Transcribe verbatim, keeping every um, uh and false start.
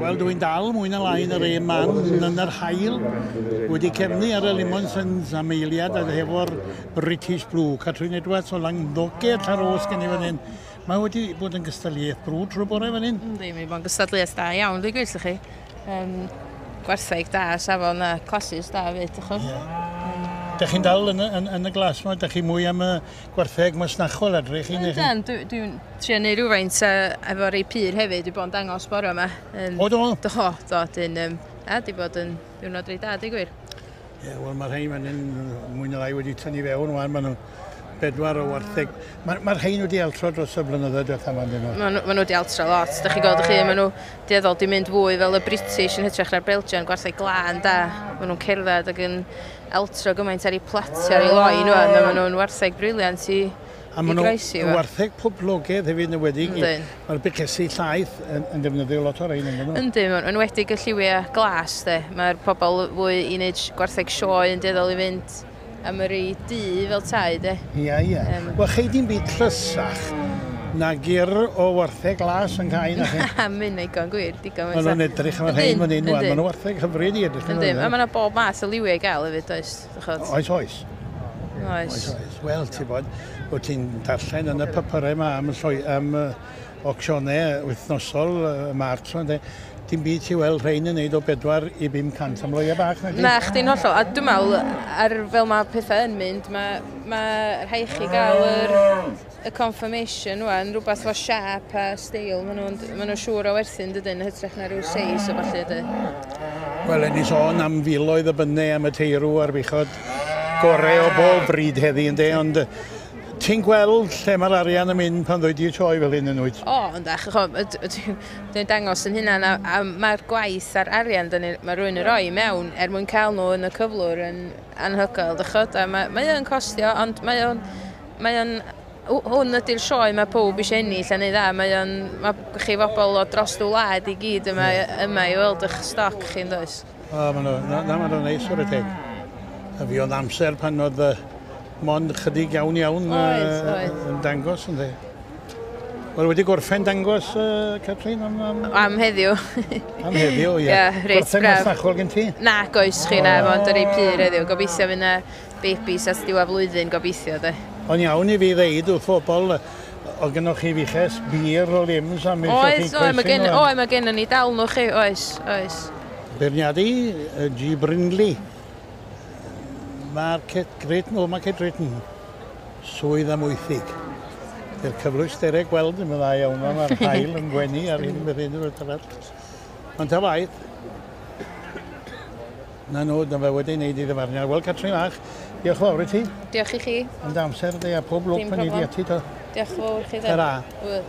Wel, dwi'n dal mwy na lai yn yr un man yn yr haul, wedi cefnu ar y Limonsons am eiliad a hefo'r British Blue. Catrin Edwards o Langddoged Llanrhos gen i fan hyn. Mae wedi bod yn gystadleuaeth brwd trwy bore fan hyn. Yndi, mae wedi bod yn gystadleuaeth da iawn, dwi'n gweud chi. Um, gwartheg da, safon a classes da hefyd, dych chi. Dych chi'n dal yn, y- yn, yn y glas yma? Dych chi mwy am y gwartheg masnachol edrych chi? neu chi? Yndan, dwi'n dwi trio neud rhywfaint uh, efo rei pur hefyd, dwi bod yn dangos bore yma. Um, O, do? Do, do, dyn, um, a di bod yn diwrnod reit da, di gwir. Ie, wel, mae'r rhain fan hyn mwy na lai wedi tynnu fewn wan. Maen nhw bedwar o wartheg. Mae'r ma rhain wedi altro dros y blynyddoedd diwethaf yma, dyn nhw. Maen nhw, ma nhw wedi altro lot. Dych chi'n gweld chi, maen nhw dueddol di mynd fwy fel y British yn hytrach na'r Belgian, gwartheg glân da. Maen nhw'n cerdded ac yn altro gymaint ar eu platio ar eu loi nhw, a maen nhw'n wartheg brilliant i, A i maen nhw groesi. efo. wartheg poblogaidd hefyd yn enwedig. Yndyn. Mae'r buchesi llaeth yn, yn defnyddio lot o'r rhain, yn nhw. Yndi, ma'n enwedig y lliwiau glas, de. Mae'r pobl fwy i wneud gwartheg sioe yn dueddol i fynd am yr ei du fel tai, de. Ie, ie. Yym. Wel, chei di'n byd tlysach na gyr o wartheg glas yn cael na chi. Mynd digon gwir, digon. Maen nhw'n edrych am yr rhain fan hyn, wan. Maen nhw wartheg hyfryd i edrych. Yndi, a mae yna bob math o liwiau i gael hefyd, oes? Dych Oes, oes. Oes. Oes, oes. Wel, ti bod, wyt ti'n darllen yn y papurau yma am, lloi, am uh, auctionau wythnosol y uh, mart, ynde. Dim byd ti weld rhain yn neud o bedwar i bum cant am loia bach, na di? Na, chdi'n hollol. A dwi'n meddwl, ar fel mae pethau yn mynd, mae ma rhaid chi gael yr, y confirmation wan, rhywbeth fo siap a steil, maen nhw'n ma nhw siŵr o werthu yn dydyn, yn hytrach na rhyw seis o falle, dy. Wel, en i sôn am filoedd y bynnau am y teirw a'r buchod gorau o bob bryd heddi, yndê, ond yy, ti'n gweld lle mae'r arian yn mynd pan ddwy di sioe fel hyn yn wyt? O, yndach, dwi'n dangos yn hynna, a, a mae'r gwaith a'r arian dyn ni, mae rhywun yn rhoi mewn er mwyn cael nhw yn y cyflwr yn anhygoel, dychod, a mae, mae o'n costio, ond mae o'n, mae o'n, hwn ydy'r sioe mae pob eisiau ennill a neud dda, mae o'n, mae chi bobl o dros y wlad i gyd yma, yma i weld eich stoc chi'n does. O, maen nhw, na, na, maen nhw'n neis o'r teg. A fi oedd amser pan oedd uh, mond chydig iawn iawn Oedd, yy, oedd. yn dangos, ynddi. Wel, wedi gorffen dangos, uh, Catrin, am, am, Am heddiw. am heddiw, ie. Ie, reit Gorffen braf. masnachol gen ti? Na, goes chi na, mond yr ei pur heddiw. Gobeithio fydd na babys at diwedd flwyddyn, gobeithio, de. Ond iawn i fi ddeud wrth bobl, o gynnwch chi fuches bir o limbs am eisiau chi Oes, oes, mae gen, oes, mae gen ni dal nhw chi, oes, oes. Beirniadu, yy, G. Brindley. Market Great, no, Market Drayton. Swydd Amwythig. Dy'r cyflwysterau gweld yn dda iawn, mae'r haul yn gwenu ar hyn beth hyn o'r arall. Ond ta waith, na nhw, na fe wedi wneud i ddyfarniad. Wel, Catrin Fach, diolch yn fawr i ti. Diolch i chi. Am dy amser di a pob lwc Dim pan i di problem. ati to. Diolch yn fawr chi. de. Ta-ra. Wel.